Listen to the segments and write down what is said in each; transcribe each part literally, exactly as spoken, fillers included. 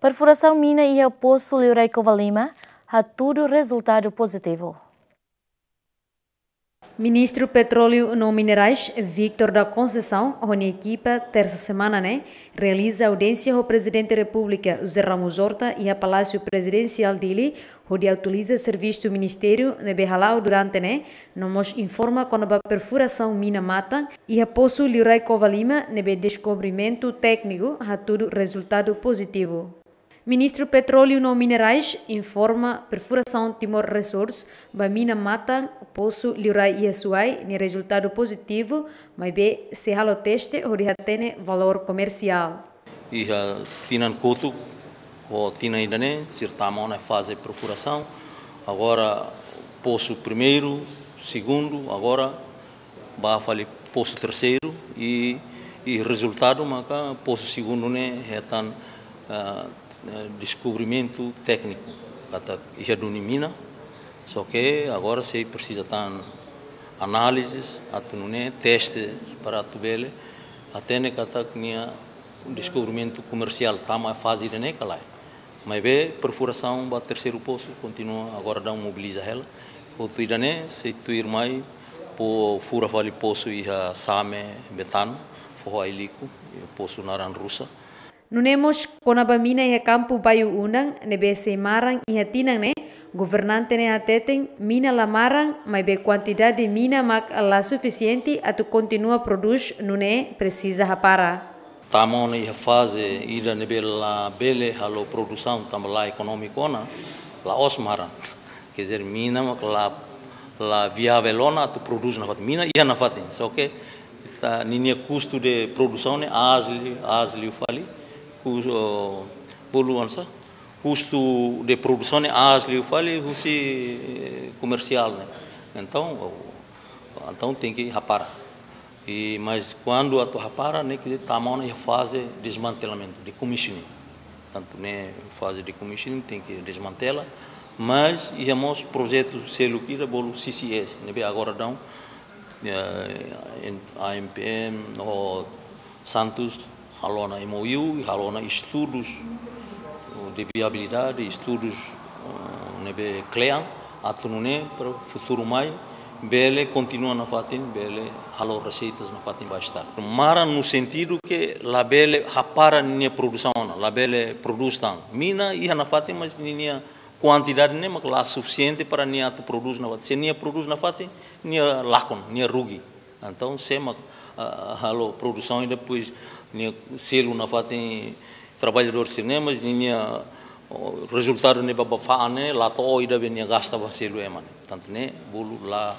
Perfurasaun mina iha Posu Liurai Covalima hatudu rezultadu pozitivu. Ministru Petróleu no Minerais, Victor da Conceição, ho nia ekipa, tersa semana ne'e, realiza audiénsia ho Prezidente Repúblika, José Ramos Horta, iha Palásiu Prezidensiál Dili, hodi atualiza servisu ministériu ne'ebé hala'o durante ne'e, no mós informa kona-ba perfurasaun mina matan iha Posu Liurai Covalima ne'ebé deskobrimentu tékniku hatudu rezultadu pozitivu. Ministru Petróleu no Minerais informa perfurasaun Timor Resources ba mina matan Posu Liurai iha Suai nia rezultadu pozitivu, maibé sei halo teste hodi hatene valór komersiál. Iha tinan kotuk, ho tinan ida-ne'e, sira tama ona faze perfurasaun. Agora, posu primeiru, segundu, agora ba fali posu terseiru i, i rezultadu maka posu segundu ne'e hetan, ah, deskobrimentu tékniku katak iha duni mina, só ke agora sei presiza tan análize atu nune'e teste para atu bele hatene katak nia deskobrimentu komersiál tama faze ida-ne'e ka lae. Maibé perfurasaun ba terseiru posu kontinua, agora daudaun mobiliza hela. Hotu ida-ne'e sei tuirmai fó fura fali posu iha Same, Betano, foho Ailiku, posu naran Rusa. Nune'e mós kona-ba mina iha kampu Bayu Undan ne'ebé sei maran iha tinan ne'e, governante ne'e hateten mina la maran, maibé kuantidade mina mak la sufisiente atu kontinua prodús, nune'e presiza hapara. Tama ona iha faze ida ne'ebé labele halo produsaun tanba la ekonómiku ona, la'ós maran. Quer dizer, mina mak la, la viável ona atu prodús nafatin. Mina iha nafatin, só ke ninia kustu de produsaun ne'e aas liu, aas liu fali, kus-, oh, bolu oinsá, kustu de produsaun ne'e aas liu fali husi, eh, komersiál ne'e. Entaun, oh, entaun tenke hapara. I, mas kuandu atu hapara, ne'e ke tama ona iha faze desmantelamentu, decommissioning. Tantu ne'e faze decommissioning, tenke desmantela, mas iha mós projetu seluk ida bolu C C S, ne'ebé agora daudaun, eh, en-, A M P M ho Santos halo ona M O U, halo ona estudus de viabilidade, estudus, eh, ne'ebé kle'an, atu nune'e para futuru mai bele kontinua nafatin, bele halo reseitas nafatin ba Estadu. Maran no sentidu ke labele hapara nia produsaun ona, labele prodús tan. Mina iha nafatin, mas ninia kuantidade ne'e mak la sufisiente para nia atu prodús nafatin. Se nia prodús nafatin, nia lakon, nia rugi. Entaun, sé mak, ah, halo produsaun i depois nia selu nafatin traballadór sira-ne'e, mas ninia, oh, rezultadu ne'ebé ba fa'an ne'e la to'o ida be nia gasta ba selu ema ne'e. Tantu ne'e bolu la,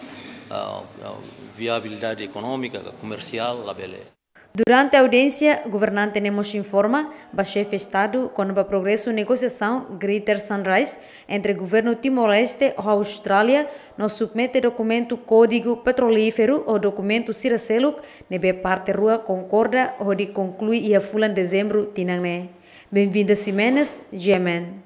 ah, ah, viabilidade ekonómika ka komersiál labele. Durante audiénsia, governante ne'e mós informa ba Xefe Estadu kona-ba progresu negosiasaun Greater Sunrise entre Governu Timor-Leste ho Austrália, no submete dokumentu Kódigu Petrolíferu ho dokumentu sira seluk ne'ebé parte rua konkorda hodi konklui iha fulan Dezembru tinan ne'e. Benvinda Ximenes, G M N.